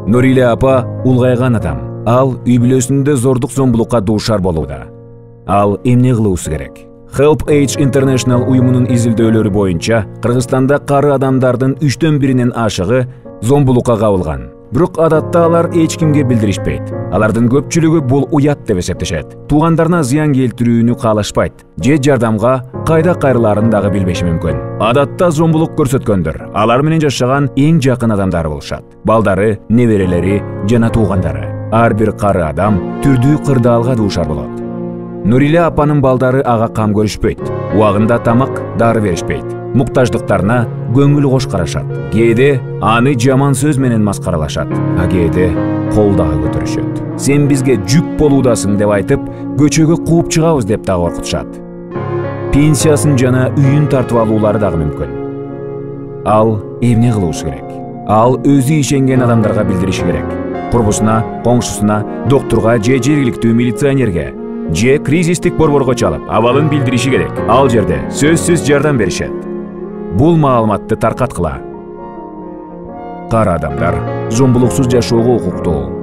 Нуриле апа улгайган адам. Ал үй бүлөсүндө зордук зомбулукка дуушар болууда. Ал эмне кылуусу керек? Help Age International уюмунун изилдөөлөрү боюнча Кыргызстанда кары адамдардын 1/3 ашыгы зомбулукка кабылган. Бирок адатта алар эч кимге билдиришпейт. Алардын көпчүлүгү бул уят деп эсептешет. Туугандарына зыян келтирүүнү каалашпайт же жардамга кайда кайрылаарын дагы билбеши мүмкүн. Адатта зомбулук көрсөткөндөр алар менен жашаган эң жакын адамдары болушат. Балдары, неберелери жана туугандары. Ар бир кары адам түрдүү кырдаалга дуушар болот. Нуриле апанын балдары ага кам көрүшпөйт. Убагында тамак, дары беришпейт. Муктаждыктарына көңүл кош карашат. Кээде аны жаман сөз менен маскаралашат, а кээде кол дагы көтөрүшөт. Сен бизге жүк болуудасың деп айтып, көчөгө кууп чыгабыз деп дагы коркутушат. Пенсиясын жана үйүн тартып алуулары дагы мүмкүн. Ал эмне кылуусу керек? Ал өзү ишенген адамдарга билдириши керек. Курбусуна, коңшусуна, доктурга же жергиликтүү милиционерге же кризистик борборго чалып, абалын билдириши керек. Ал жерде сөзсүз жардам беришет. Бул маалыматты таркаткыла. Кары адамдар зомбулуксуз жашоого укуктуу.